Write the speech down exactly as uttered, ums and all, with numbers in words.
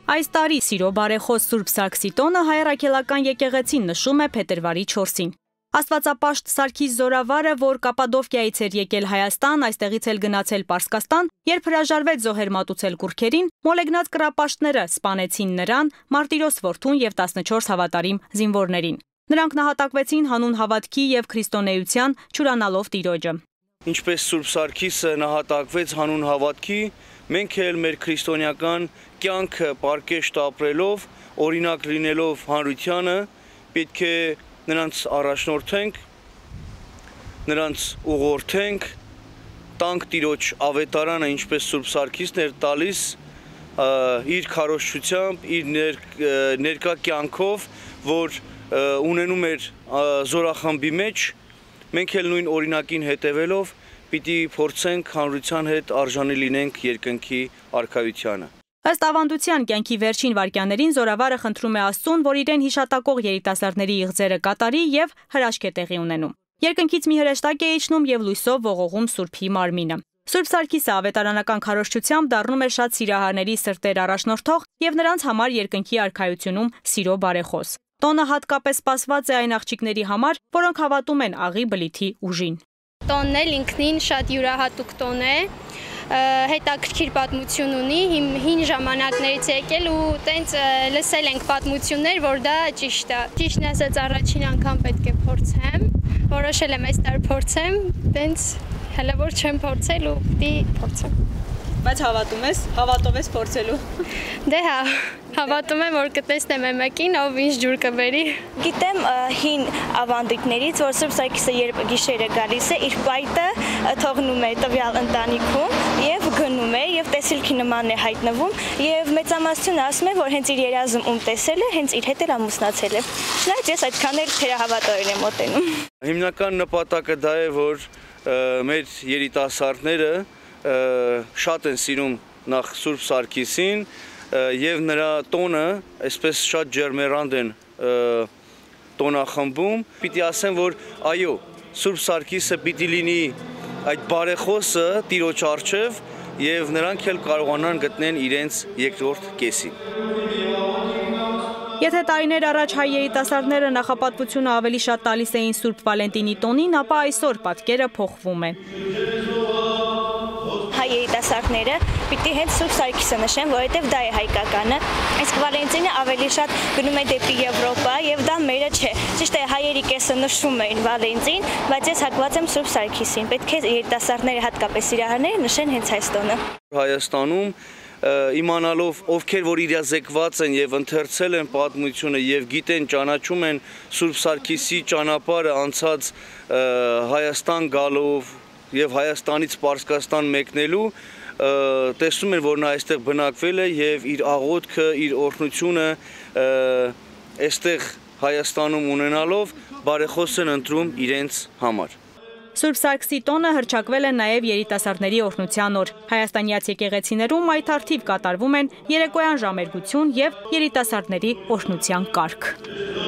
Այս տարի սիրո բարեխոս Սուրբ Սարգսի տոնը Հայ առաքելական եկեղեցին նշում է փետրվարի չորսին։ Աստվածապաշտ Սարգիս Զորավարը, որ Կապադովկիայից էր եկել Հայաստան, այստեղից էլ գնացել Պարսկաստան, երբ հրաժարվեց զոհեր մատուցել կուռքերին, մոլեգնած կռապաշտները սպանեցին նրան, Մարտիրոս որդուն եւ տասնչորս հավատարիմ զինվորներին։ Նրանք նահատակվեցին հանուն հավատքի եւ քրիստոնեության, չուրանալով Տիրոջը։ Ինչպես Սուրբ Սարգիսը նահատակվեց հանուն հավատքի, մենք էլ մեր քրիստոնեական կյանքը պարկեշտ ապրելով, օրինակ լինելով հանրությանը, պետք է նրանց առաջնորդենք, նրանց ուղղորդենք, տանք Տիրոջ ավետարանը, ինչպես Սուրբ Սարգիսն էր տալիս, իր քարոզչությամբ, իր ներկա կյանքով, որ ունենում էր զորախմբի մեջ, մենք էլ նույն օրինակին հետևելով պիտի փորձենք հանրության հետ արժանի լինենք երկնքի արքայությանը։ Ըստ ավանդության կյանքի վերջին վայրկյաններին Զորավարը խնդրում է Աստծուն, որ իրեն հիշատակող երիտասարդների իղձերը կատարի եւ հրաշք է տեղի ունենում։ Երկնքից մի հրեշտակ է իջնում եւ լույսով ողողում Սուրբի մարմինը։ Սուրբ Սարգիսը ավետարանական քարոզչությամբ դառնում է շատ սիրահարների սրտեր առաջնորդող եւ նրանց համար երկնքի արքայությունում սիրո բարեխոս։ Տոնը հատկապես սպասված է այն աղջիկների համար, որոնք հավատում են աղի բլիթի ուժին։ Տոնն էլ ինքնին շատ յուրահատուկ տոն է, հետաքրքիր պատմություն ունի, հին ժամանակներից եկել ու տենց լսել ենք պատմություններ, որ դա ճիշտ է։ Ճիշտն ասած առաջին անգամ պետք է փորձեմ, որոշել եմ այս տարի փորձեմ, տենց հələ որ չեմ փորձել ու պիտի փորձեմ։ Բայց հավատում ես, հավատով ես փորձելու։ Դե հա, հավատում եմ, որ կտեսնեմ մեկին, ով ինչ ջուր կբերի։ Գիտեմ հին ավանդույթներից, որ Սուրբ Սարգիսը երբ գիշերը գալիս է, իր պայտը թողնում է տվյալ ընտանիքում եւ գնում է եւ տեսիլքի նման է հայտնվում եւ մեծամասնությունը ասում է, որ հենց իր երազում ում տեսել է, հենց իր հետ էլ ամուսնացել է։ Չնայած ես այդքան էլ թերահավատորեն եմ մոտենում։ Հիմնական նպատակը դա է, որ մեր երիտասարդները շատ են սիրում նախ Սուրբ Սարգիսին եւ նրա տոնը այսպես շատ ջերմեռանդ են տոնախմբում։ Պիտի ասեմ, որ այո, Սուրբ Սարգիսը պիտի լինի այդ բարեխոսը Տիրոջ առջև եւ նրանք էլ կարողանան գտնեն իրենց երկրորդ կեսին։ Եթե տարիներ առաջ հայ երիտասարդները նախապատվությունը ավելի շատ տալիս էին Սուրբ Վալենտինի տոնին, ապա այսօր պատկերը փոխվում է։ Հայ երիտասարդները պիտի հենց Սուրբ Սարգիսը նշեն, որովհետև դա է հայկականը, իսկ Վալենտինը ավելի շատ գնում է դեպի Եվրոպա եւ դա մերը չէ։ Ճիշտ է, հայերի կեսը նշում էին Վալենտին, բայց ես հակված եմ Սուրբ Սարգիսին։ Պետք է երիտասարդները, հատկապես սիրահարները, նշեն հենց այս տոնը։ Հայաստանում իմանալով ովքեր որ իրազեկված են եւ ընթերցել են պատմությունը եւ գիտեն, ճանաչում են Սուրբ Սարգիսի ճանապարհը անցած Հայաստան գալով եւ Հայաստանից Պարսկաստան մեկնելու, տեսնում են, որ նա այստեղ բնակվել է եւ իր աղոթքը, իր օրհնությունը այստեղ Հայաստանում ունենալով բարեխոս են ընտրում իրենց համար։ Սուրբ Սարգսի տոնը հռչակվել է նաև երիտասարդների օրհնության օր։ Հայաստանյաց եկեղեցիներում այդ արդիվ կատարվում են երեկոյան ժամերգություն եւ երիտասարդների օրհնության կարգ։